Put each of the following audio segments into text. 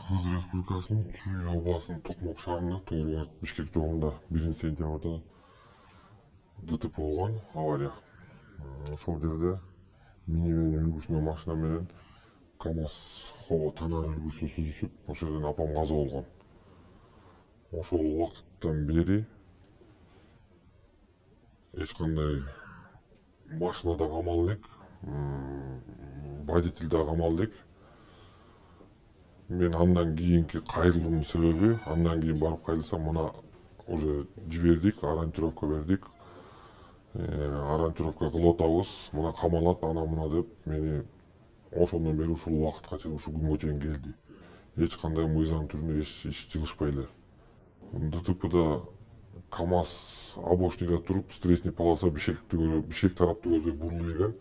Кыргыз Республикасынын Чүй областынын Токмок шаарында Тоорубарт Бишкек жолунда 1-сентябрда ДТП болгон, авария. Ошол жерде минивэн үлгүсүнөн машина менен КамАЗ Хово Танар үлгүсү сүзүшүп, ошол жерден апам каза болгон. Ошол убакыттан бери эч кандай машина да камал элек, водитель да камал элек. Мен андан кийинки кайрылуумдун себеби, андан кийин барып кайрылсам, мына уже жибердик, ориентировка бердик. Ориентировка кылып атабыз, мына камалат, ана мына деп мени ошондон бери ушул убакытка чейин, ушул күнгө чейин келди. Эч кандай мыйзам түрүндө иш жылышпай эле. ДТПда КамАЗ обочинада туруп, встречный полоса Бишкек тараптуу көздөй бурулуп келген.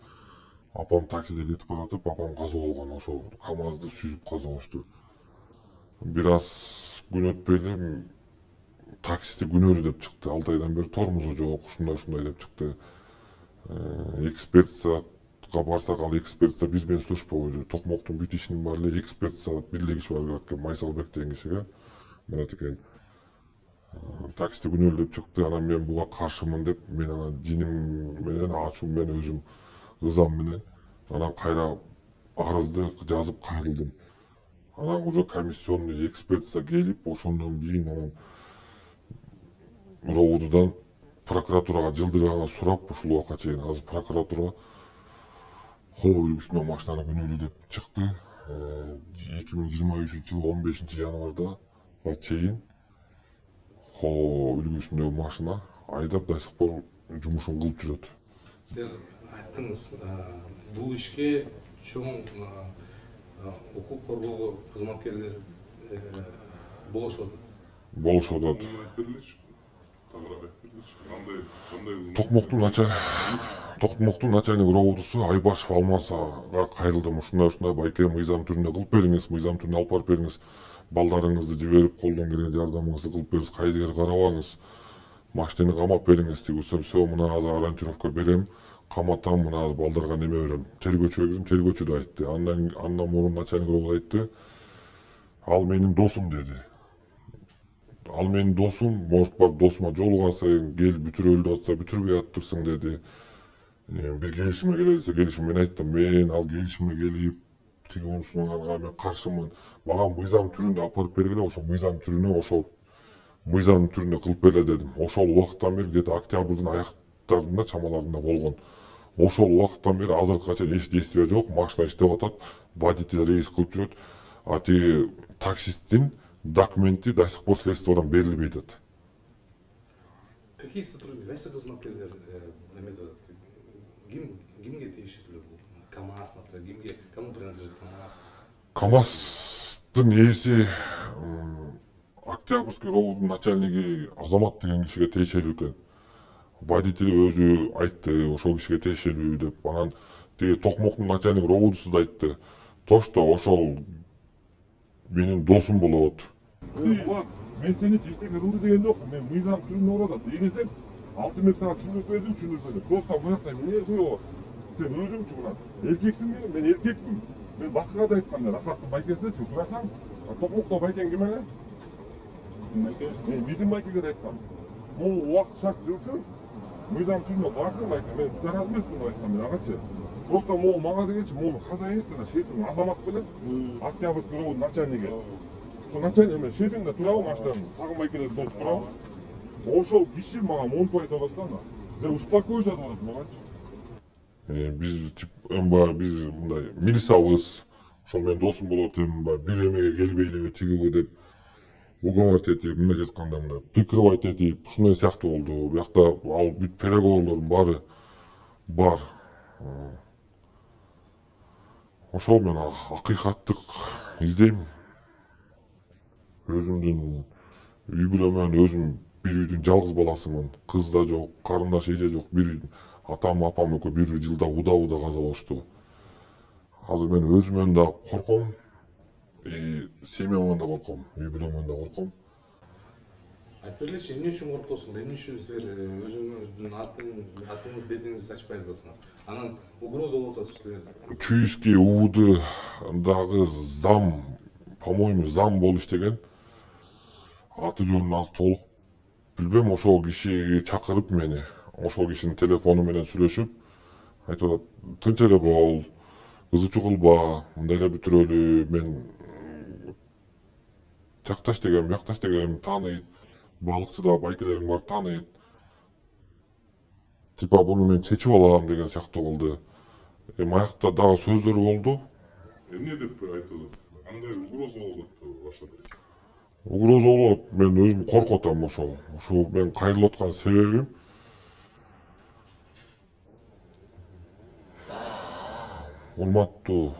Апам таксиде кетип баратып, апам каза болгон, ошол КамАЗды сүзүп каза болушту. Бир аз күн өтпөй эле таксисти күнөөлүү деп чыкты. 6 айдан бери тормозу жок, ушундай деп чыкты. Экспертизага барсак, ал экспертиза биз менен служба Токмоктун бүт ишинин баары эле экспертизага бир киши барып келет, Майсалбек деген кишиге. Мурат экен. Таксисти күнөөлүү деп чыкты. Анан мен буга каршымын деп, мен анан жиним менен, ачуум менен, өзүм ызам менен анан кайра арызды жазып кайрылдым. Анан уже комиссионный экспертиза келип, ошондон кийин анан РОУДдан прокуратурага жылдырганга сурап, ушул убакка чейин азыр прокуратура Хово үлгүсүнөн машинаны күнөөлүү деп чыкты. 2023-жылы 15-январда чейин Хово үлгүсүндөгү машина айдап до сих пор жумушун кылып жүрөт. Сиз айттыңыз, бул ишке чоң укук коргоо кызматкерлери болушуп атат. Токмоктун начальник РОУДусу Айбашев Алмазга кайрылдым. Ушундай байке мыйзам түрүндө кылып бериңиз, мыйзам түрүндө алып барып бериңиз. Балдарыңызды жиберип, колдон келген жардамыңызды кылып бериңиз, кайдыгер карабаңыз. Машинени камап бериңиз дегенсем, все, мына азыр ориентировка берем, каматам, мына азыр балдарга неме берем. Тергөөчүгө кирдим, тергөөчү да айтты. Андан мурун начальник РОУД айтты. Ал менин досум деди. Ал менин досум, может бар досума жолугасың, кел бүтүрөлүп атса бүтүрбөй аттырсың деди. Бир келишимге келелисе, келишим. Мен айттым, мен ал келишимге келип, тиги унусунарга мен каршымын. Мага мыйзам түрүндө алып барып бергиле, ошол мыйзам түрүндө кылып бергиле дедим. Ошол убакыттан бери где-то октябрдын аяктарында, чамаларында болгон. Ошол убакыттан бери азыркыга чейин эч действие жок, машина иштеп атат, водитель рейс кылып жүрөт. А тиги таксисттин документи до сих пор следствиядан берилбей атат. Какие сотрудники, кайсы кызматкерлер эметип атат? Кимге тиешелүү бул? КамАЗ, например, кому принадлежит КамАЗ? КамАЗдын ээси Октябрьский РОУДдун начальниги Азамат деген кишиге тиешелүү экен. Водители өзү айтты, ошол кишиге тиешелүү деп. Анан тиги Токмоктун начальник РОУДусу да айтты. Тошто ошол менин досум болот. Мен сени эчтеке кылды деген жокмун. Мен мыйзам түрүндө урат. Ийгесең, Алтынбек сага түшүндүрүп берди. Просто буякта эмне кылып? Сен өзүңчү мына эркексиңби? Мен эркекмин. Мен бакыга да айткам, Рахаттын байкесинечи сурасаң, Токмокто байкең ким эле? Байке. Мен бидин байкеге да айткам. Могу убакыт шарт жылсын, мыйзам түрүндө барсын байке. Мен тараз эмесмин деп айткам мен агачы. Просто могу мага дегенчи, могу хозяин жана шефиң Азамат белет, Октябрьский РОУДдун начальниги. Ошо начальник эме шефиң да турабы машинадан, тагын байкелер дос турабы? Ошол киши мага монтип айтып атат да. Мен успокойся деп атат магачы. Биз мындай милисабыз, ошол менин досум болот, бир эмеге келбейлиби, тигиби деп уговаривать этип, мындай жатканда мындай прикрывать этип, ушундай сыяктуу болду. Биякта ал бүт переговорлордун баары бар. Ошол мен акыйкаттык издейм. Өзүмдүн үй бүлөмөн, өзүм бир үйдүн жалгыз баласымын. Кыз да жок, карындаш эже жок. Бир үйдүн атам, апам экөө бир жылда уда каза болушту. Азыр мен өзүмөн да корком, семьямдан да корком, үй бүлөмөн да корком. Айтып бергилечи, эмне үчүн коркосуңар? Эмне үчүн силер өзүңүздүн атыңыз, бетиңизди ачпай атасыңар? Анан угроза болуп атасызбы силер? Чуйский УВДдагы зам по-моему, зам болуп иштеген. Аты жөнүн азыр толук билбейм. Ошол кишиге чакырып мени, ошол кишинин телефону менен сүйлөшүп, айтып атат, тынч эле бол, кызычуу кылба, мындай эле бүтүрөлү, мен жакташ дегем, биякташ дегем тааныйт, балыкчы да байкелериң бар тааныйт. Типа буну мен чечип алам деген сыяктуу кылды. Аякта дагы сөздөр болду. Эмне деп айтылат? Кандай угроза болуп атпайбы баш адрес? Угроза болот, мен өзүм коркуп атам ошол. Ошол мен кайрылып аткан себебим урматтуу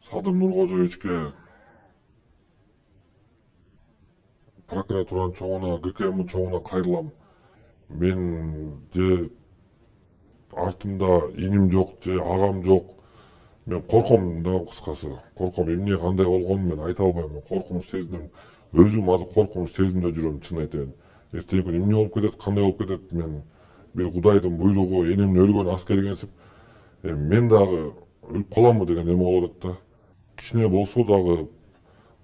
Садыр Нуркожоевичке, прокуратуранын чоңуна, ГКМдин чоңуна кайрылам. Мен же артымда иним жок, же агам жок. Мен корком да, кыскасы. Корком, эмне кандай болгонун мен айта албайм. Мен коркунуч сездим. Өзүм азыр коркунуч сезимде жүрөм, чын айтайын. Эртеңки күнү эмне болуп кетет, кандай болуп кетет, мен бир Кудайдын буйругу, энемдин өлгөн аскери экенсип, мен дагы өлүп каламбы деген эме болуп атат да. Кичине болсо дагы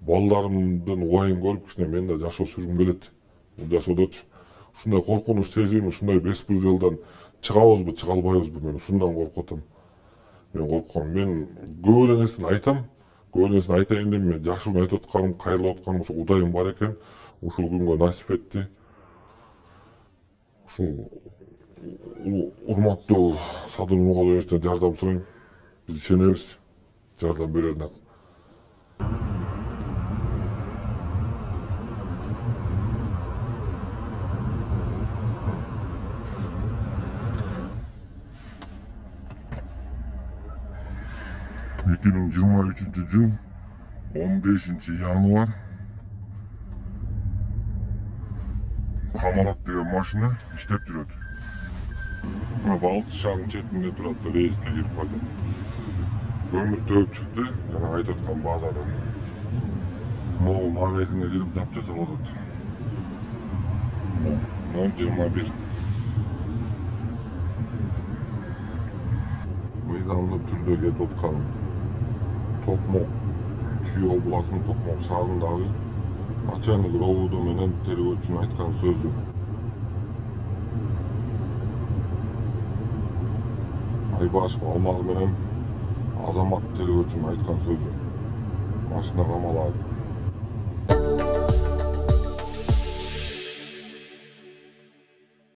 балдарымдын убайын көрүп, кичине мен да жашоо сүргүм келет. Бул жашоодочу ушундай коркунуч сезим, ушундай беспределден чыгабызбы, чыга албайбызбы, мен ушундан коркуп атам. Мен корком. Мен көп эле нерсени айтам. Көп эле нерсени айтайын деп мен жашыруун айтып атканым, кайрылып атканым ушу Кудайым бар экен. Ушул күнгө насип этти. Ушул урматтуу Садыр Нуркожоевичтен жардам сурайм. Биз ишенебиз жардам берерине. Эки миң жыйырма үчүнчү жыл 15 январь Камалат деген машина иштеп жүрөт. Балыкчы шаарынын четинде турат, рейске кирип барат. Көмүр төгүп чыкты, жана айтып аткан базадан. Могул магазине кирип запчасть алып атат. 021. Мыйзамдуу түрдө кетип аткан Токмок Чүй областынын Токмок шаарындагы начальник РОВД менен тергөөчүнүн айткан сөзү. Айбашев Алмаз менен Азамат тергөөчүнүн айткан сөзү. Машина камалат.